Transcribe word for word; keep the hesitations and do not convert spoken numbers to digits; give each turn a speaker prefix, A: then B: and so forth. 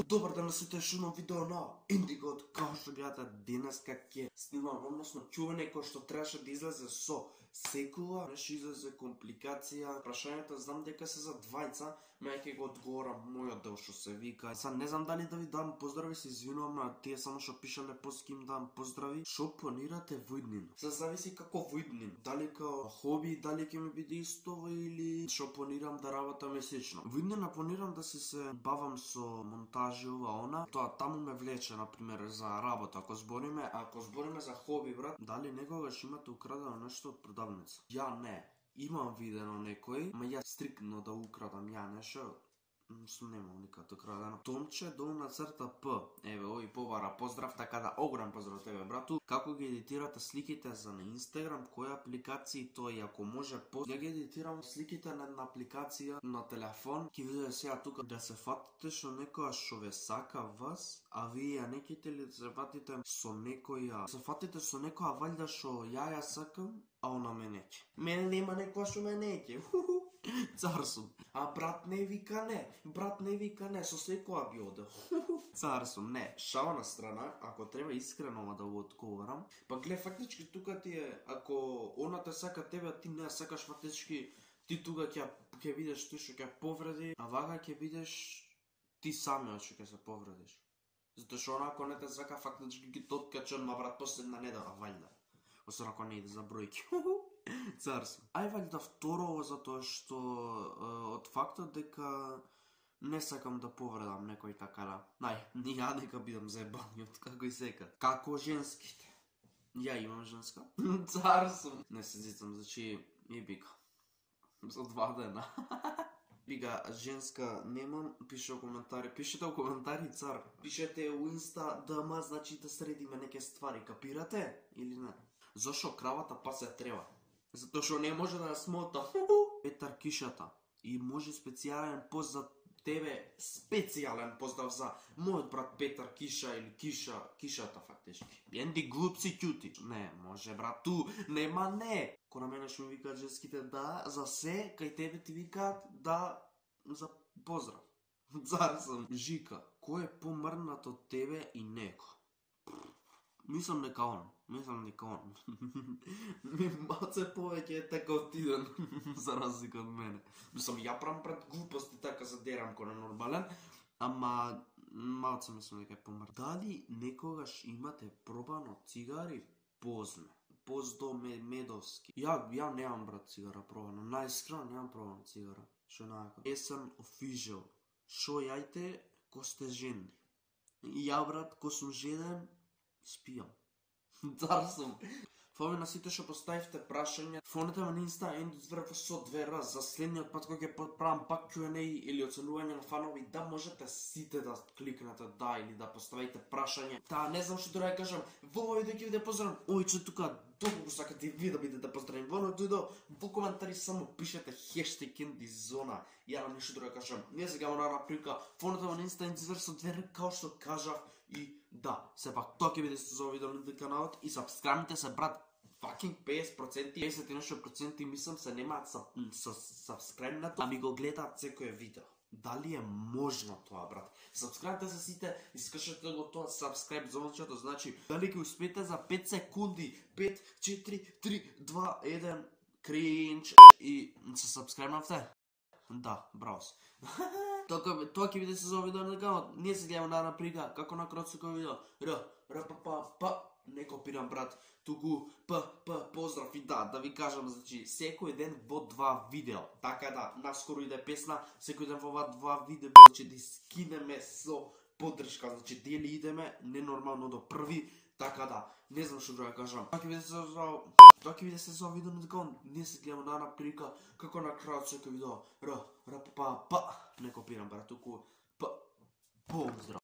A: Добар ден на сите, уште едно видео на Индиго. Као што гледате, денеска ќе снимам, односно чување кој што требаше да излезе со секула, нешто излезе компликација. Прашањето знам дека се за двајца, ме ќе го одговорам мојот дел што се вика. Сад не знам дали да ви дам поздрави, се извинувам на тие само што пишале пост им дам поздрави. Што планирате во иднина? Се зависи како во иднина. Дали као хоби, дали ќе ми биде истово или што планирам да работам месечно. Во иднина планирам да се се бавам со монтажи ова она. Тоа таму ме влече на пример за работа. Ако збориме, ако збориме за хоби, брат, дали некогаш имате украдено нешто од продавница? Ја не. Имам видено некој, ма ја стрикно да украдам ја нешто. Сум немал никад украдено. Томче долна црта П. Еве, ој побара поздрав, така да огром поздрав тебе, брату. Како ги едитирате сликите за на Инстаграм, која апликација тоа и ако може по... Ја ги едитирам сликите на една апликација на телефон. Ки видите сега тука да се фатите што некоја што ве сака вас, а вие не ките ли се фатите со некоја... Се фатите со некоја валјда што ја ја сакам, а она ме неќе. Мене нема некоја што ме неќе. Цар сум. А брат не вика не. Брат не вика не, со секоја би одел. Цар сум. Не, шала на страна, ако треба искрено да го одговорам. Па глед, фактички тука ти е, ако она те сака тебе, а ти не сакаш, фактички ти тука ќе ќе видиш тој што ќе повреди, а вака ќе видиш ти самиот што ќе се повредиш. Затоа што она ако не те сака, фактички ги тоткачам, ма брат последна недела валјда. Освен ако не иде за бројки. Цар сум. Ај валјда второво затоа што е, од фактот дека не сакам да повредам некој така да. Нај, ја нека бидам заебаниот, како и сека. Како женските. Ја имам женска. Цар сум. Не се зицам, значи и бика. За два дена. Бига, женска немам, пише во коментари. Пишете во коментари, цар. Пишете у инста ДМ, значи да средиме неке ствари, капирате или не? Зошо кравата пасе треба? Затоа што не може да ја смота. Петар Кишата. И може специјален пост за тебе, специјален поздрав за мојот брат Петар Киша или Киша, Кишата фактички. Енди глупци ќути. Не, може брат, ту, нема не. Ко на мене што ми викаат женските да, за се, кај тебе ти викаат да, за поздрав. Цар сум. Жика, кој е помрнат од тебе и неко? Мислам дека он, мислам дека он. Ми малце повеќе е така отиден, за разлика од мене. Мислам, ја правам пред глупости, така се дерам ко ненормален, ама малце мислам дека е помрт. Дали некогаш имате пробано цигари? Позме. Поздо медовски. Ја, ја немам брат цигара пробано, најискрено немам пробано цигара. Шо најако. Есен официјал. Шо јајте, ко сте жени. Ја брат, ко сум жеден, спијам. Цар сум. Фоме на сите што поставивте прашање, фонете ме на инста Енди Зверва со две раз за следниот пат кога ќе правам пак Q and A или оценување на фанови, да можете сите да кликнете да или да поставите прашање. Та не знам што треба да кажам. Во овој видео ќе ви да поздравам. Ој че тука долго сакате ви да бидете поздравени. Во овој видео во коментари само пишете хештег Енди Зона. Ја нам ништо да кажам. Не сега на наприка. Фонете ме на инста Енди Зверва со две раз као што кажав. И да, сепак тоа ќе биде со овој видео на каналот и сабскрайбнете се брат. Fucking песет проценти, песет и нешто проценти мислам се немаат со сабскрайбнато, а ми го гледаат секој видео. Дали е можно тоа, брат? Сабскрайбнете се сите и скачете го тоа сабскрайб звончето, значи дали ќе успеете за пет секунди, пет, четири, три, два, еден, кринч и се сабскрайбнавте? Да, браво. Тоа тоа ќе биде се за видео на каналот. Ние се гледаме на прига, како на кратко видео. Р, р, па, па, па. Не копирам брат, туку п, п, поздрав и да, да ви кажам, значи, секој ден во два видео, така да, наскоро иде песна, секој ден во ова два видео, значи, да скинеме со поддршка, значи, дели идеме, ненормално до први, така да, не знам што да кажам. Тоа ќе биде се за, тоа ќе биде се за видео на дека ние се гледаме на една прилика, како на крајот секој видео, р, р, па, па, не копирам брат, туку п, поздрав.